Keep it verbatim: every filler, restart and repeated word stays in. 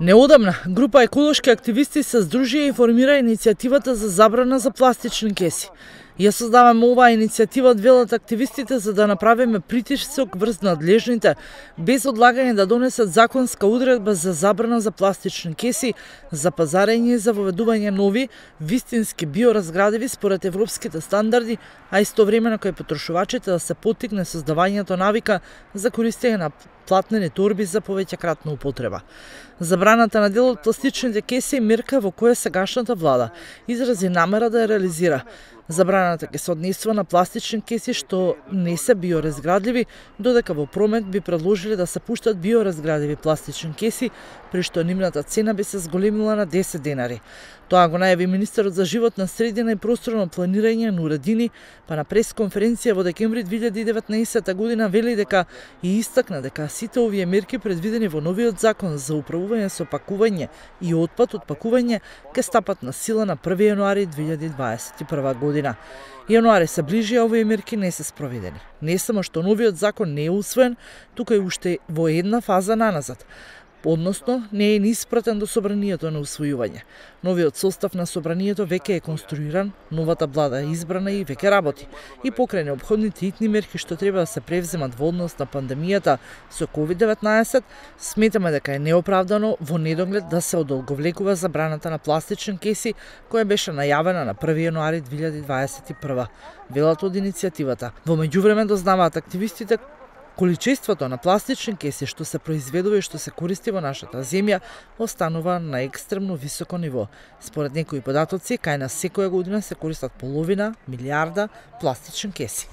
Неодамна, група еколошки активисти се здружија и формира иницијативата за забрана за пластични кеси. Ја создаваме оваа иницијатива, велат активистите, за да направиме притисок врз надлежните, без одлагање да донесат законска одредба за забрана за пластични кеси, за пазарење и за воведување нови, вистински биоразградиви според европските стандарди, а истовремено кај потрошувачите да се поттикне создавањето навика за користење на платнени торби за повеќекратна употреба. Забраната на дел од пластичните кеси е мерка во која сегашната влада изрази намера да ја реализира. Забраната ќе се однесува на пластични кеси што не се биоразградливи, додека во промет би предложиле да се пуштат биоразградиви пластични кеси, при што нивната цена би се зголемила на десет денари. Тоа го најави министерот за животна средина и просторно планирање Нуредини, па на пресконференција во декември две илјади и деветнаесетта година вели дека и истакна дека сите овие мерки предвидени во новиот закон за управување со пакување и отпад од пакување ќе стапат на сила на први јануари две илјади дваесет и прва година. Јануари се ближи, а овие мерки не се спроведени. Не само што новиот закон не е усвоен, тука и уште во една фаза наназад. Односно, не е ни испратен до собранието на усвојување. Новиот состав на собранието веќе е конструиран, новата влада е избрана и веќе работи. И покрај неопходните итни мерки што треба да се превземат во однос на пандемијата со ковид деветнаесет, сметаме дека е неоправдано во недоглед да се одолговлекува забраната на пластични кеси која беше најавена на први јануари две илјади дваесет и прва. Велат од иницијативата. Во меѓувреме дознаваат активистите количеството на пластични кеси што се произведува и што се користи во нашата земја останува на екстремно високо ниво. Според некои податоци, кај нас секоја година се користат половина милијарда пластични кеси.